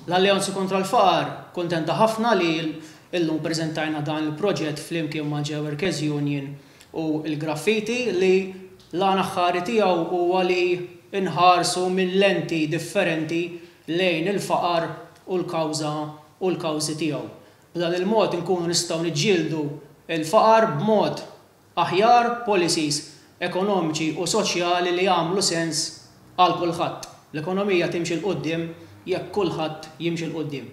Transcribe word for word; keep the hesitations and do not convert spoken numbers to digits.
L-Alleanza kontra l-Faqar kontenta ħafna li illum preżentajna dan il-proġett flimkien ma' Workers Union u l-Graffiti, li l-għan aħħari tiegħu huwa li nħarsu minn lenti differenti lejn il-faqar u l-kawża u l-kawżi tiegħu. B'dan il-mod inkunu nistgħu niġġieldu il-faqar b'mod aħjar, policies ekonomiċi u soċjali li jagħmlu sens għal kulħadd. L-ekonomija timxi 'l quddiem jekk kulħadd jimxi 'l quddiem.